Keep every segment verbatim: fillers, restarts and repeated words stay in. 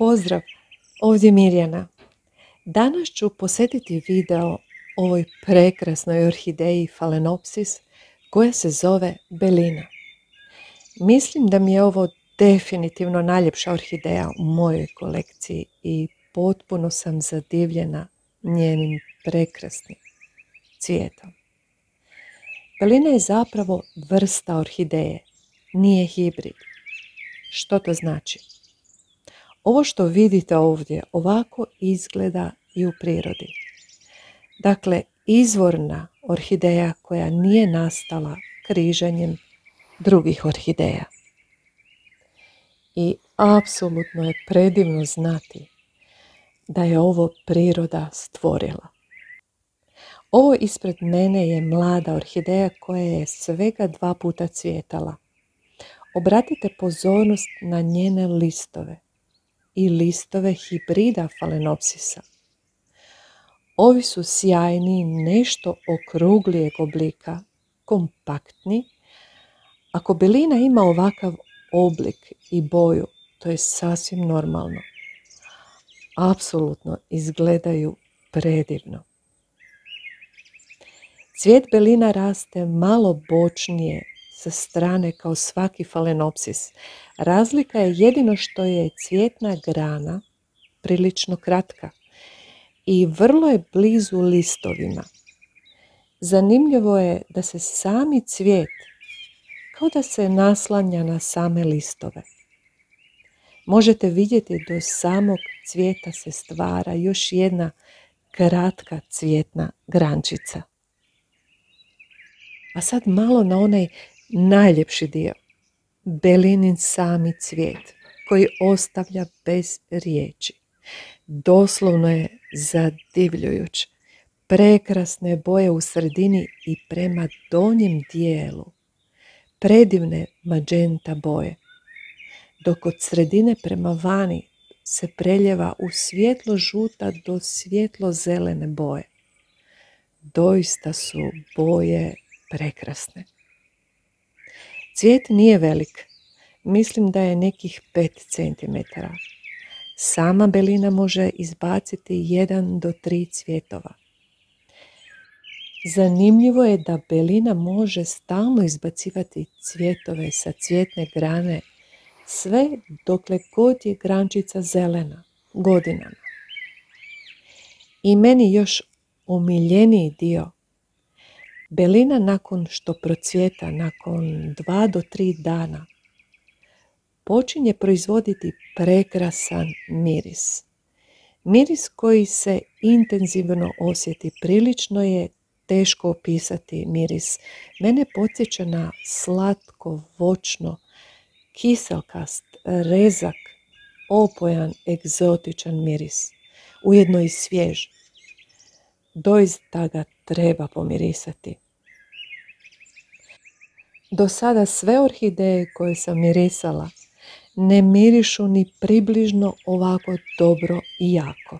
Pozdrav, ovdje Mirjana. Danas ću posjetiti video ovoj prekrasnoj orhideji Phalaenopsis koja se zove Belina. Mislim da mi je ovo definitivno najljepša orhideja u mojoj kolekciji i potpuno sam zadivljena njenim prekrasnim cvijetom. Belina je zapravo vrsta orhideje, nije hibrid. Što to znači? Ovo što vidite ovdje ovako izgleda i u prirodi. Dakle, izvorna orhideja koja nije nastala križanjem drugih orhideja. I apsolutno je predivno znati da je ovo priroda stvorila. Ovo ispred mene je mlada orhideja koja je svega dva puta cvjetala. Obratite pozornost na njene listove i listove hibrida Phalaenopsisa. Ovi su sjajni, nešto okruglijeg oblika, kompaktni. Ako belina ima ovakav oblik i boju, to je sasvim normalno. Apsolutno izgledaju predivno. Cvijet belina raste malo bočnije sa strane kao svaki Phalaenopsis. Razlika je jedino što je cvjetna grana prilično kratka i vrlo je blizu listovima. Zanimljivo je da se sami cvijet kao da se naslanja na same listove. Možete vidjeti do samog cvijeta se stvara još jedna kratka cvjetna grančica. A sad malo na onaj najljepši dio, belinin sami cvijet koji ostavlja bez riječi. Doslovno je zadivljujuć. Prekrasne boje u sredini i prema donjem dijelu. Predivne magenta boje. Dok od sredine prema vani se preljeva u svjetlo žuta do svjetlo zelene boje. Doista su boje prekrasne. Cvijet nije velik, mislim da je nekih pet centimetara. Sama belina može izbaciti jedan do tri cvjetova. Zanimljivo je da belina može stalno izbacivati cvjetove sa cvjetne grane sve dokle god je grančica zelena, godinama. I meni još omiljeniji dio. Belina nakon što procvjeta, nakon dva do tri dana, počinje proizvoditi prekrasan miris. Miris koji se intenzivno osjeti, prilično je teško opisati miris. Mene podsjeća na slatko, voćno, kiselkast, rezak, opojan, egzotičan miris, ujedno i svjež. Doista ga treba pomirisati. Do sada sve orhideje koje sam mirisala ne mirišu ni približno ovako dobro i jako.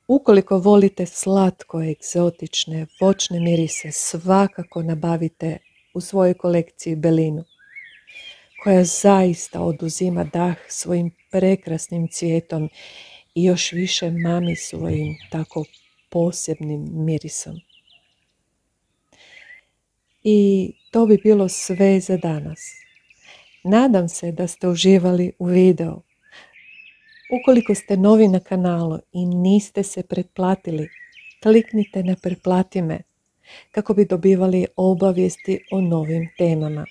Ukoliko volite slatko, egzotične, voćne mirise, svakako nabavite u svojoj kolekciji belinu, koja zaista oduzima dah svojim prekrasnim cvijetom i još više mami svojim tako posebnim mirisom. I to bi bilo sve za danas. Nadam se da ste uživali u videu. Ukoliko ste novi na kanalu i niste se pretplatili, kliknite na pretplati me kako bi dobivali obavijesti o novim temama.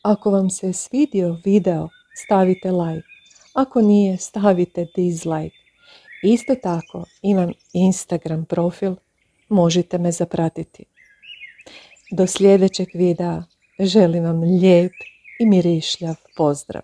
Ako vam se svidio video, stavite like. Ako nije, stavite dislike. Isto tako imam Instagram profil, možete me zapratiti. Do sljedećeg videa želim vam lijep i mirišljav pozdrav.